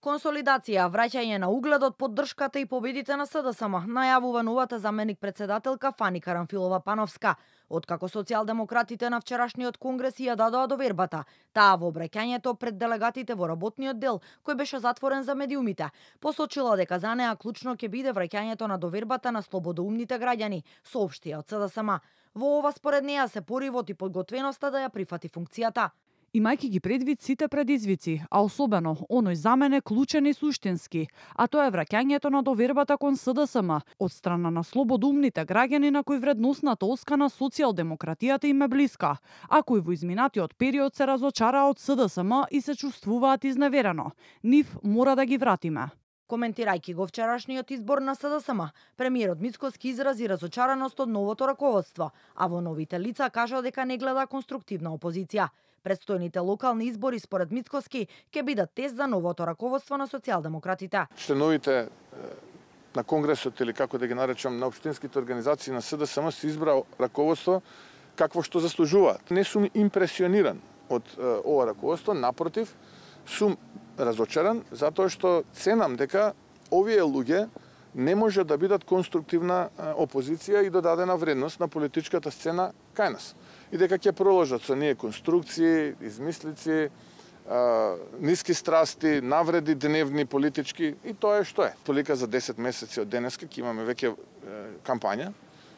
Консолидација, враќање на угледот, поддршката и победите на СДСМ, најавува новата заменик председателка Фани Карамфилова-Пановска. Откако социјалдемократите на вчерашниот конгрес ја дадоа довербата, таа во обраќањето пред делегатите во работниот дел, кој беше затворен за медиумите, посочила дека за неа клучно ќе биде враќањето на довербата на слободоумните граѓани, соопштија од СДСМ. Во ова според неа се поривот и подготвеноста да ја прифати функцијата. Имајќи ги предвид сите предизвици, а особено оној за мене клучен и суштински, а тоа е враќањето на довербата кон СДСМ од страна на слободоумните граѓани на кои вредносната оска на социјалдемократијата им е блиска, а кои во изминатиот период се разочараа од СДСМ и се чувствуваат изневерено. Нив мора да ги вратиме. Коментирајќи го вчерашниот избор на СДСМ, премиерот Мицкоски изрази разочараност од новото раководство, а во новите лица кажа дека не гледа конструктивна опозиција. Предстојните локални избори според Мицкоски ќе бидат тест за новото раководство на социјалдемократите. Членовите на Конгресот или како да ги наречам на општинските организации на СДСМ се избра раководство какво што заслужуваат. Не сум импресиониран од ова раководство, напротив, сум разочаран затоа што ценам дека овие луѓе не може да бидат конструктивна опозиција и додадена вредност на политичката сцена кај нас. И дека ќе проложат со ние конструкции, измислици, ниски страсти, навреди дневни политички и тоа е што е. Толика за 10 месеци од денеска ќе имаме веќе кампања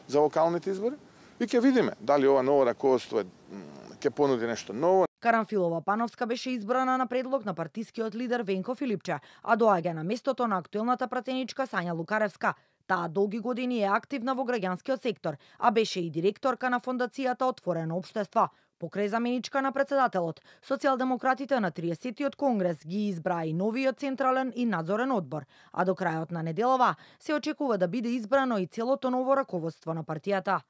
за локалните избори и ќе видиме дали ова ново раководство ќе понуди нешто ново. Карамфилова-Пановска беше избрана на предлог на партискиот лидер Венко Филипче, а доаѓа на местото на актуелната пратеничка Сања Лукаревска. Таа долги години е активна во граѓанскиот сектор, а беше и директорка на фондацијата Отворено општество. Покрај заменичка на председателот, социјалдемократите на 30-тиот конгрес ги избраа и новиот централен и надзорен одбор, а до крајот на неделава се очекува да биде избрано и целото ново раководство на партијата.